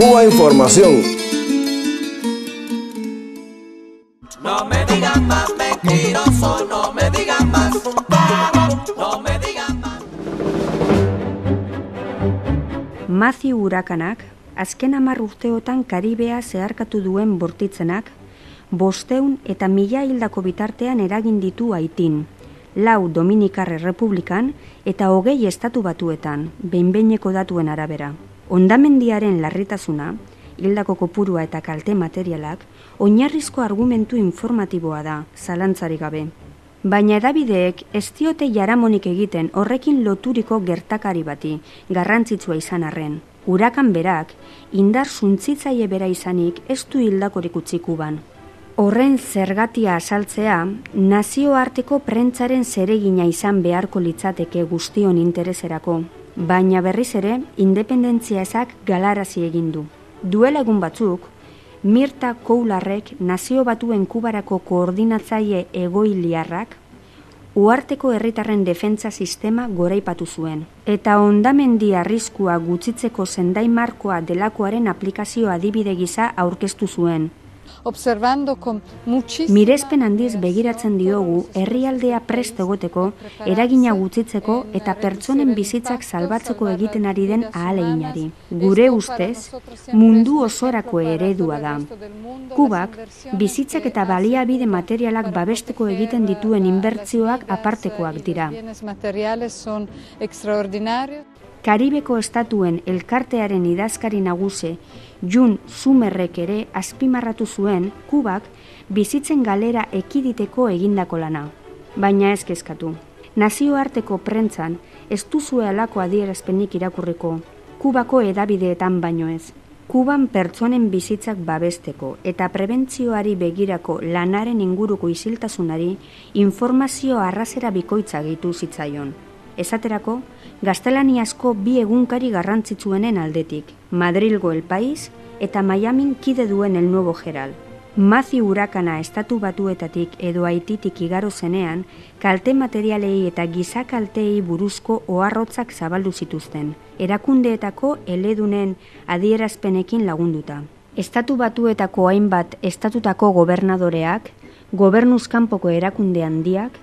Cuba Información. No me digan más mentiroso, no me digan más, no me digan más. Matthew urakanak, azken 10 urteotan Karibea zeharkatu duen bortitzenak, 500 eta 1000 hildako bitartean eragin ditu Haitin, 4 Dominikar Errepublikan eta 20 Estatu Batuetan, behin-behineko datuen arabera. Hondamendiaren larritasuna, hildako kopurua eta kalte materialak, oinarrizko argumentu informatiboa da, zalantzarik gabe. Baina hedabideek ez diote jaramonik egiten horrekin loturiko gertakari bati, garrantzitsua izan arren. Urakan berak, indar suntzitzaile bera izanik ez du hildakorik utzi Kuban. Horren zergatia azaltzea, nazioarteko prentzaren zeregina izan beharko litzateke guztion intereserako, baina berriz ere, independentzia ezak galarazi egin du. Duela egun batzuk, Mirta Koularrek Nazio Batuen Kubarako koordinatzaile egoiliarrak uharteko herritarren defentsa sistema goraipatu zuen, eta hondamendi arriskua gutxitzeko sendai markoa delakoaren aplikazio adibide gisa aurkeztu zuen. Mirespen handiz begiratzen diogu herrialdea prest egoteko, eragina gutxitzeko eta pertsonen bizitzak salbatzeko egiten ari den ahaleginari. Gure ustez, mundu osorako eredua da. Kubak, bizitzak eta baliabide materialak babesteko egiten dituen inbertsioak apartekoak dira. Karibeko estatuen elkartearen idazkari nagusi Jun Sumerrek ere azpimarratu zuen Kubak bizitzen galera ekiditeko egindako lana. Baina ez kezkatu. Nazioarteko prentzan ez duzue halako adierazpenik irakurriko, Kubako hedabideetan baino ez. Kuban pertsonen bizitzak babesteko eta prebentzioari begirako lanaren inguruko isiltasunari informazio arrazera bikoitza gehitu zitzaion. Esaterako, gaztelaniazko 2 egunkari garrantzitsuenen aldetik, Madrilgo El País eta Miamin kide duen El Nuevo Herald. Matthew urakana Estatu Batuetatik edo Haititik igaro zenean, kalte materialei eta gizakalteei buruzko oharrotzak zabaldu zituzten, erakundeetako eledunen adierazpenekin lagunduta. Estatu Batuetako hainbat estatutako gobernadoreak, gobernuz kanpoko erakunde handiak,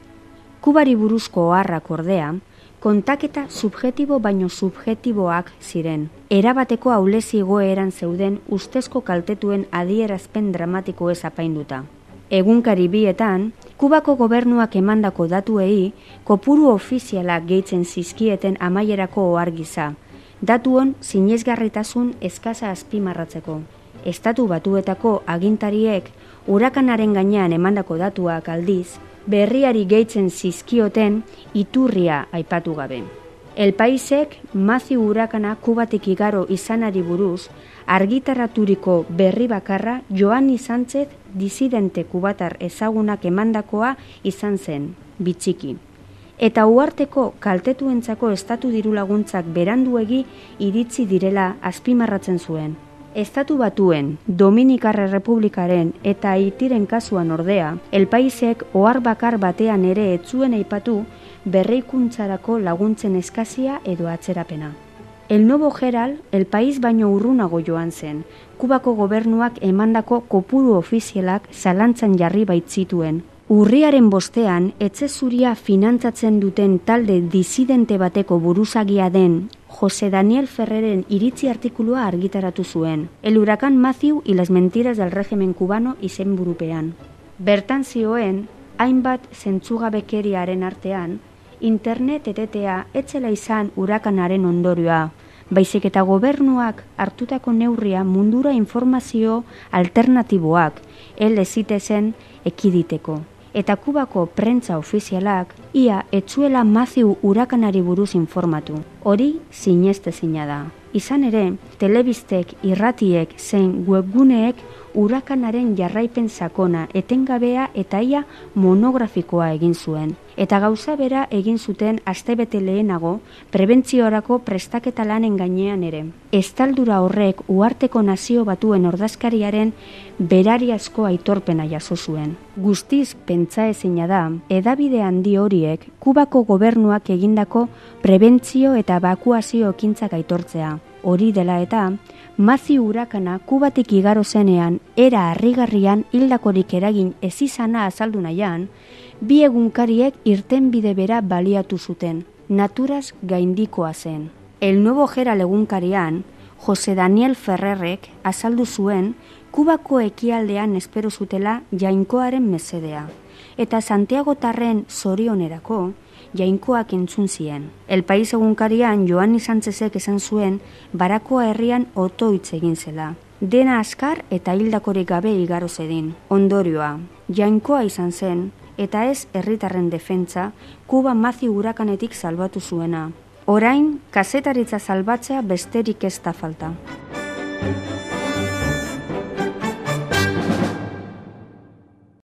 Kubari buruzko oharrak ordea, kontaketa subjektibo baino subjektiboak ziren. Erabateko ahulezi egoeran zeuden ustezko kaltetuen adierazpen dramatiko ez apainduta. Egunkari bietan, Kubako gobernuak emandako datuei kopuru ofizialak gehitzen zizkieten amaierako ohar gisa. Datuon sinesgarritasun eskasa azpimarratzeko. Estatu Batuetako agintariek urakanaren gainean emandako datuak aldiz, berriari gehitzen zizkioten iturria aipatu gabe. El Paisek Matthew urakana Kubatik igaro izanari buruz argitaraturiko berri bakarra Joanny Sánchez disidente kubatar ezagunak emandakoa izan zen, bitxiki. Eta uharteko kaltetuentzako estatu dirulaguntzak beranduegi iritsi direla azpimarratzen zuen. Estatu Batuen, Dominikar Errepublikaren eta Haitiren kasuan ordea, El Paisek ohar bakar batean ere ez zuen aipatu berrikuntzarako laguntzen eskazia edo atzerapena. El Nuevo Herald, El País baino urrunago joan zen, Kubako gobernuak emandako kopuru ofizialak zalantzan jarri baitzituen. Urriaren 5ean, etxe zuria finantzatzen duten talde disidente bateko buruzagia den José Daniel Ferreren iritzi artikulua argitaratu zuen, El huracán Matthew y las mentiras del régimen cubano izenburupean. Bertan zioen, hainbat zentzugabekeriaren artean, internet etetea etzela izan hurakanaren ondorioa, baizik eta gobernuak hartutako neurria mundura informazio alternatiboak hel ezitezen ekiditeko. Eta Kubako prentza ofizialak ia etzuela Matthew urakanari buruz informatu. Hori sinestezina da. Izan ere, telebistek, irratiek, zein webguneek urakanaren jarraipen sakona, etengabea eta ia monografikoa egin zuen. Eta gauza bera egin zuten astebete lehenago prebentziorako prestaketa lanen gainean ere. Estaldura horrek uharteko Nazio Batuen ordezkariaren berariazko aitorpena jaso zuen. Guztiz pentsaezina da, hedabide handi horiek Kubako gobernuak egindako prebentzio eta ebakuazio ekintzak aitortzea. Hori dela eta, Matthew hurakana Kubatik igaro zenean, era harrigarrian hildakorik eragin ez izana azaldu nahian, bi egunkariek irtenbide bera baliatu zuten, naturaz gaindikoa zen. El Nuevo Herald egunkarian, Jose Daniel Ferrerrek azaldu zuen Kubako ekialdean espero zutela jainkoaren mesedea, eta Santiagotarren zorionerako jainkoak entzun zien. El País egunkarian Joanni Sánchezek esan zuen Barakoa herrian otoitz egin zela. Dena askar eta hildakorik gabe igaro zedin. Ondorioa, jainkoa izan zen, eta ez herritarren defentsa Kuba Matthew hurakanetik salbatu zuena. Orain, kazetaritza salbatzea besterik ez da falta.